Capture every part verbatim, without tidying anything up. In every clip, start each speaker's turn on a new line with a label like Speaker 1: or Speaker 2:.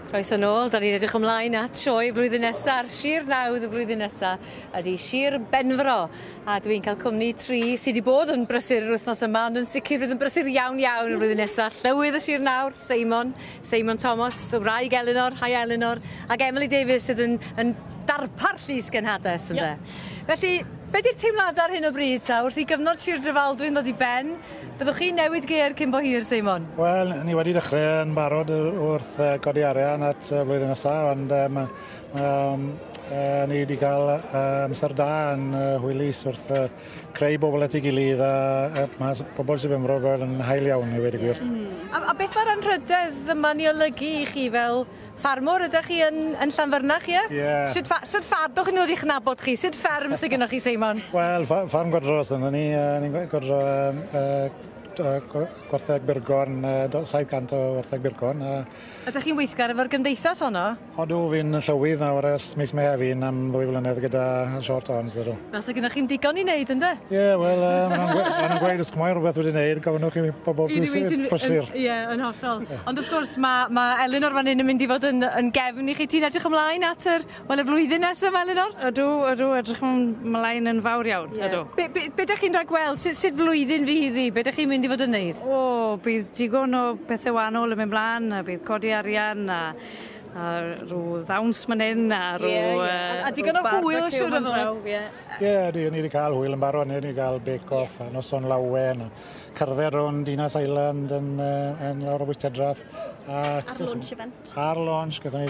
Speaker 1: Croeso nôl, da ni'n edrych ymlaen at sioe blwyddyn nesaf, Sir Nawdd y blwyddyn nesaf, ydy Sir Benfro. A dwi'n cael cwmni tri sydd wedi bod yn brysur yr wythnos yma, ond yn sicr fydd yn brysur iawn iawn y blwyddyn nesaf. Llywydd y Sir Nawr, Seimon, Seimon Thomas, wraig Elinor, hi Elinor, ac Emily Davies sydd yn, yn darpar llys genhades, ynde. Yep. Felly, be di'r teimladau ar hyn o bryd ta? Wrth i gyfnod Sir Drefaldwyn ddod i ben, byddwch chi'n newid gêr cyn bo hir, Seimon?
Speaker 2: Wel, ni wedi dechrau yn barod wrth godi arian at flwyddyn nesaf, ond um, um, uh, ni wedi cael amser da yn uh, hwylus wrth uh, creu bobl at ei gilydd, a uh, mae bobl Sir Benfro yn hael iawn i weud y gwir.
Speaker 1: Mm. A, a beth mae'r anrhydedd yma'n ei olygu i chi fel ffarmwr? Ydych chi yn, yn Llanfyrnach, ie?
Speaker 2: Ie. Yeah.
Speaker 1: Sut, fa sut ffarm chi'n dod i'ch nabod chi? Sut fferm sydd gennych chi, Seimon?
Speaker 2: Wel, ffarm godro sydd ni. Ni'n godro uh, gwartheg Byrgorn, saith cant o wartheg Byrgorn.
Speaker 1: Ydych chi'n weithgar efo'r gymdeithas honno?
Speaker 2: Odw, fi'n llywydd nawr ers mis Mehefin am ddwy flynedd gyda Short Horns, ydw.
Speaker 1: Fel sydd gennych chi'n digon i wneud, ynddo?
Speaker 2: Ie, yeah, wel, maen nhw'n gweud os mae rhywbeth wedi wneud, gofynnwch i bobl prysur.
Speaker 1: Ie, yn hollol. Ond wrth gwrs, mae ma Elinor fan hyn yn mynd i fod yn, yn gefn i chi. Ti'n edrych ymlaen at yr, wel, y flwyddyn nesaf, Elinor?
Speaker 3: Ydw, ydw, edrych ymlaen yn fawr iawn,
Speaker 1: yeah.
Speaker 3: Ydw.
Speaker 1: Be, be, be ydych chi'n rhagweld? Sut, sut flwyddyn fydd hi? Be ydych chi'n mynd i fod yn neud?
Speaker 3: O, bydd digon o bethau wahanol yn mynd mlaen, a bydd codi arian, a, a rhyw ddawns man hyn, a rhyw...
Speaker 1: Yeah, yeah. A, a digon o hwyl, siŵr o fod.
Speaker 3: Ie,
Speaker 2: yeah, ni wedi cael hwyl yn barod, ni wedi cael bake-off, yeah. A noson lawen, a cerdded rownd Dinas Island yn, yn lawr o Bwytedrath.
Speaker 4: Ar launch event.
Speaker 2: Ar launch, gyda ni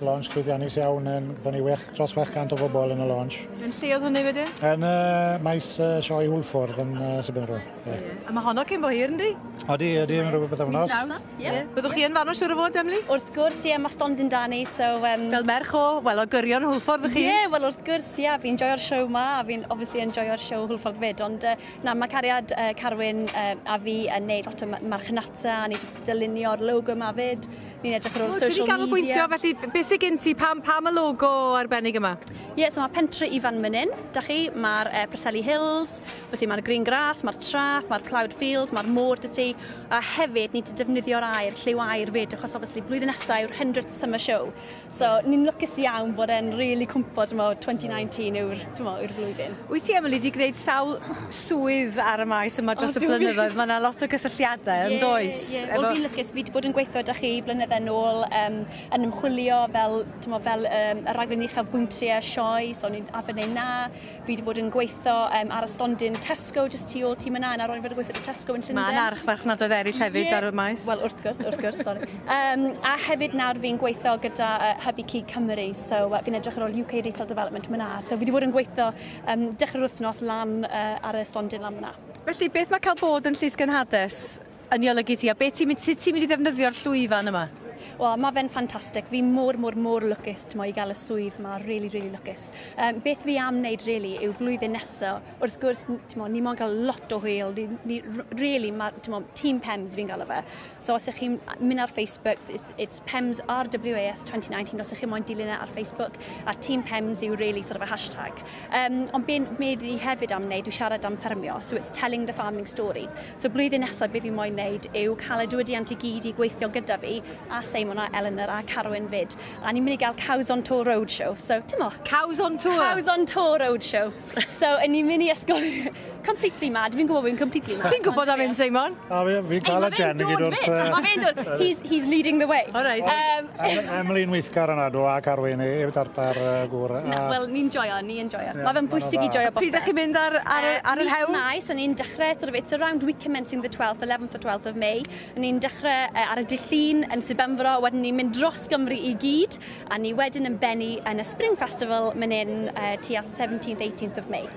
Speaker 2: launch llwyddiannus iawn, gyda ni wech, dros chwech cant o bobl yn y launch.
Speaker 1: Yn lle oedd hwnna wedyn?
Speaker 2: Yn uh, maes uh, sioe Hwlffordd yn uh, Sir Benfro. Yeah.
Speaker 1: Yeah. A mae honno cyn bo hir, yndi?
Speaker 2: Odi, ydi, yn rhywbeth bythefnos.
Speaker 4: Ie. Yeah.
Speaker 1: Byddwch chi yn fanno siŵr o fod, Emily?
Speaker 4: Wrth gwrs, ie, mae stondin da ni, so... Um...
Speaker 1: Fel merch o, wel, o gyrion Hwlffordd chi?
Speaker 4: Ie, yeah, wel, wrth gwrs, ie, yeah, fi'n joio'r show ma, a fi'n obviously yn joio'r show Hwlffordd fyd, ond uh, na, mae cariad uh, Carwyn uh, a fi yn neud lot o marchnata, a ni wedi dylunio'r logo ma fyd. Ni'n edrych ar ôl social media.
Speaker 1: Ti wedi ganolbwyntio, felly beth sydd gen ti, pam, pam y logo arbennig yma?
Speaker 4: Ie, yeah, so mae Pentre Ifan man hyn, da chi, mae'r uh, Preseli Hills, felly mae'r Green Grass, mae'r Trath, mae'r Ploughed Fields, mae'r môr dy ti, a hefyd ni wedi defnyddio'r air, lliw air fyd, achos obviously blwyddyn nesaf yw'r hundredth Summer Show. So ni'n lwcus iawn bod e'n really cwmpo, ti'n mo, twenty nineteen yw'r, ti'n mo, yw'r flwyddyn.
Speaker 1: Wyt ti, Emily, wedi gwneud sawl swydd ar y maes yma dros oh, y blynyddoedd? Mae yna lot o gysylltiadau, yn does?
Speaker 4: Ie, yeah. Wel, fi'n lwcus, fi wedi bod yn gweithio â chi blynyddoedd nôl, um, yn ymchwilio fel, mo, fel um, y rhaglen uchafbwyntiau sioe, so ni'n arfer neud na. Fi wedi bod yn gweithio um, ar y stondin Tesco, just tu ôl tîm yna, a ro'n i fod yn gweithio Tesco yn Llundain.
Speaker 1: Mae yna archfarchnadoedd eraill hefyd
Speaker 4: yeah.
Speaker 1: ar y maes.
Speaker 4: Wel, wrth gwrs, wrth gwrs, sorry. Um, a hefyd nawr fi'n gweithio gyda uh, Hybu Cig Cymru, so uh, fi'n edrych ar ôl U K Retail Development myna. So fi wedi bod yn gweithio um, dechrau'r wythnos lan uh, ar y stondin lan myna.
Speaker 1: Felly, beth mae cael bod yn Llys Genhades yn ei olygu ti, a beth ti'n mynd, sut ti'n mynd i ddefnyddio'r llwyfan yma?
Speaker 4: Wel, mae fe'n ffantastig. Fi mor, mor, mor lwcus mo, i gael y swydd ma, really, really lwcus. Um, beth fi am wneud, really, yw blwyddyn nesaf. Wrth gwrs, mo, ni moyn gael lot o hwyl. Ni, ni, really, ma, mo, Team PEMS fi'n gael o fe. So, os ych chi'n mynd ar Facebook, it's, it's PEMS R W A S twenty nineteen, os ych chi'n moyn dilyn e ar Facebook, a Team PEMS yw really sort of a hashtag. Um, ond be, be ni hefyd am wneud yw siarad am ffermio, so it's telling the farming story. So, blwyddyn nesaf, be fi moyn wneud yw cael y diwydiant i gyd i gweithio gyda fi, a Seimon a Eleanor a Carwyn fyd. A ni'n mynd i gael Cows on Tour Roadshow. So, ti'n mo?
Speaker 1: Cows on Tour?
Speaker 4: Cows on Tour Roadshow. So, ni'n mynd i ysgol completely mad. Fi'n gwybod fi'n completely mad.
Speaker 1: Ti'n gwybod am hyn, Seimon?
Speaker 2: A fi'n cael y gen i gyd wrth...
Speaker 4: Mae fe'n dod. He's, he's leading the way.
Speaker 1: All right.
Speaker 4: Um,
Speaker 2: Emily'n weithgar yna, do, a Carwyn i darpar gŵr.
Speaker 4: Wel, ni'n joio, ni'n joio. Mae fe'n bwysig i joio bopeth.
Speaker 1: Pryd ydych chi'n mynd ar, ar, ar yr hewl?
Speaker 4: Mis Mai, so ni'n dechrau, sort of, it's around week commencing the twelfth, eleventh or twelfth of May. Ni'n dechrau ar y dydd Llun yn Sir Benfro, wedyn ni'n mynd dros Gymru i gyd, a ni wedyn yn bennu yn y Spring Festival mynd in uh, tua seventeenth, eighteenth of May.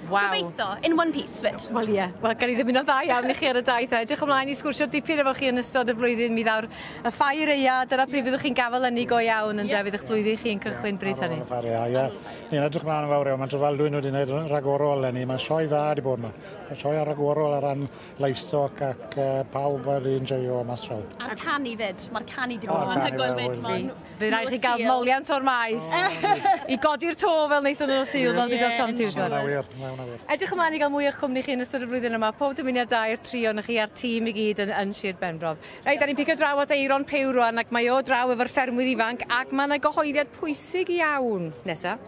Speaker 1: Waw.
Speaker 4: Gobeithio, in one piece fyd.
Speaker 1: Wel ie, yeah. Wel gan i ddymuno dda iawn i chi ar y daith. Edrych ymlaen i sgwrsio dipyn efo chi yn ystod y flwyddyn. Mi ddaw'r y ffair eia, dyna pryd fyddwch chi'n gafael ynni go iawn yn yeah. Fydd eich blwyddyn chi'n cychwyn bryd hynny.
Speaker 2: Ar ôl y ffair eia, ie. Ni'n edrych ymlaen yn fawr iawn. Mae Drefaldwyn wedi gwneud rhagorol eleni. Mae sioe dda wedi bod yma. Mae sioe rhagorol ar ran livestock ac uh, pawb wedi enjoyo mas draw.
Speaker 4: A'r canu fyd. Mae'r canu wedi bod yn anhygoel fyd.
Speaker 1: Fydd rhaid chi gael moliant o'r maes i godi'r to fel wnaethon nhw Sul, fel dweud Tom Tudor.
Speaker 2: hwnna wir.
Speaker 1: Edrych ymlaen i gael mwy o'ch cwmni chi yn ystod y flwyddyn yma. Pob dymuniad da i'r tri ohonoch chi a'r tîm i gyd yn, yn Sir Benfro. Reit, da ni'n pigo draw at Eiron Pew rwan ac mae o draw efo'r ffermwyr ifanc ac mae yna gyhoeddiad pwysig iawn. Nesa.